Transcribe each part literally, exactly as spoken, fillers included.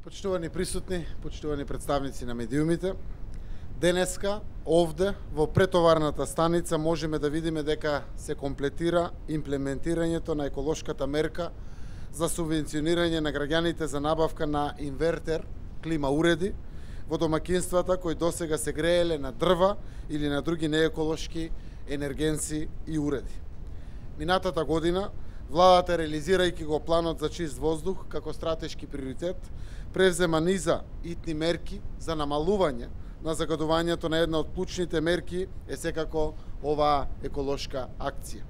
Почитувани присутни, почитувани представници на медиумите, денеска овде во претоварната станица можеме да видиме дека се комплетира имплементирањето на еколошката мерка за субвенционирање на граѓаните за набавка на инвертер клима уреди во домакинствата кои досега се грееле на дрва или на други нееколошки енергенци и уреди. Минатата година владата, реализирајќи го планот за чист воздух како стратешки приоритет, превзема низа итни мерки за намалување на загадувањето. На една од клучните мерки е секако оваа еколошка акција.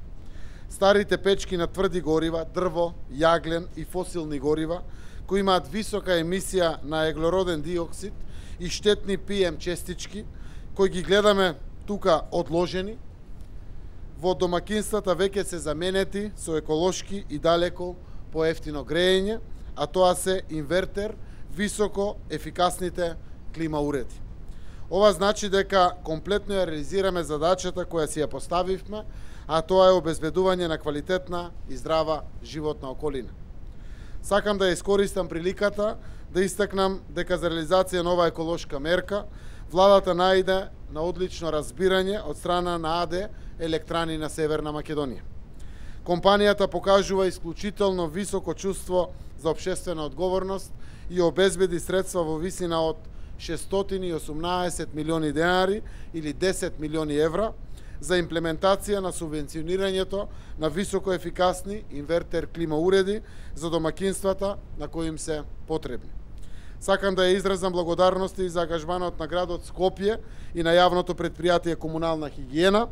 Старите печки на тврди горива, дрво, јаглен и фосилни горива, кои имаат висока емисија на еглороден диоксид и штетни пи ем честички, кои ги гледаме тука одложени, во домакинствата веќе се заменети со еколошки и далеко поевтино греење, а тоа се инвертер, високо ефикасните клима уреди. Ова значи дека комплетно ја реализираме задачата која си ја поставивме, а тоа е обезбедување на квалитетна и здрава животна околина. Сакам да ја искористам приликата да истакнам дека за реализација на оваа еколошка мерка владата најде на одлично разбирање од страна на АД Електрани на Северна Македонија. Компанијата покажува исклучително високо чувство за општествена одговорност и обезбеди средства во висина од шестстотини и осумнаесет милиони денари или десет милиони евра за имплементација на субвенционирањето на високо ефикасни инвертер клима уреди за домакинствата на кои им се потребни. Сакам да ја изразам благодарности за ангажманот на градот Скопје и на јавното претпријатие Комунална хигиена,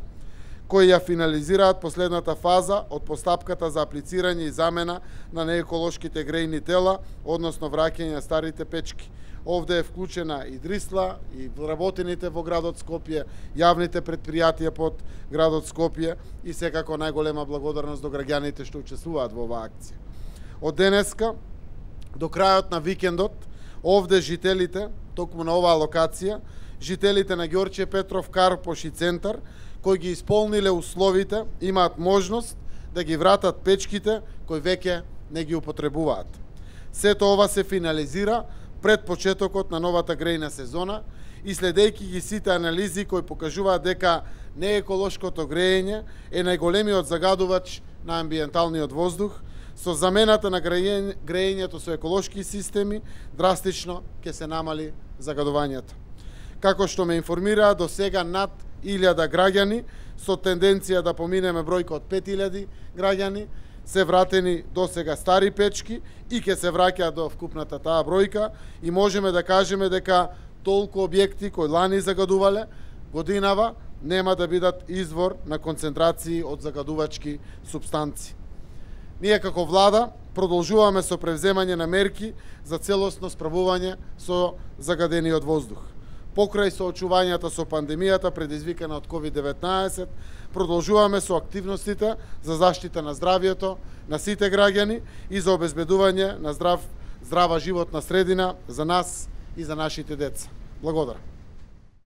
кои ја финализираат последната фаза од постапката за аплицирање и замена на нееколошките грејни тела, односно враќање на старите печки. Овде е вклучена и Дрисла, и вработените во градот Скопје, јавните претпријатија под градот Скопје и секако најголема благодарност до граѓаните што учествуваат во оваа акција. Од денеска до крајот на викендот, овде жителите, токму на оваа локација, жителите на Ѓорче Петров Карпош и Центар, кои ги исполниле условите, имаат можност да ги вратат печките кои веќе не ги употребуваат. Сето ова се финализира пред почетокот на новата грејна сезона и следејќи ги сите анализи кои покажуваат дека нееколошкото грејење е најголемиот загадувач на амбиенталниот воздух, со замената на грејењето со еколошки системи драстично ќе се намали загадувањето. Како што ме информираа, до сега над илјада граѓани со тенденција да поминеме бројка од пет илјади граѓани се вратени до сега стари печки и ќе се враќаат до вкупната таа бројка и можеме да кажеме дека толку објекти кои лани загадувале годинава нема да бидат извор на концентрации од загадувачки супстанции. Ние како влада продолжуваме со превземање на мерки за целосно справување со загадениот воздух. Покрај соочувањата со пандемијата предизвикана од ковид деветнаесет, продолжуваме со активностите за заштита на здравјето на сите граѓани и за обезбедување на здрав, здрава животна средина за нас и за нашите деца. Благодарам.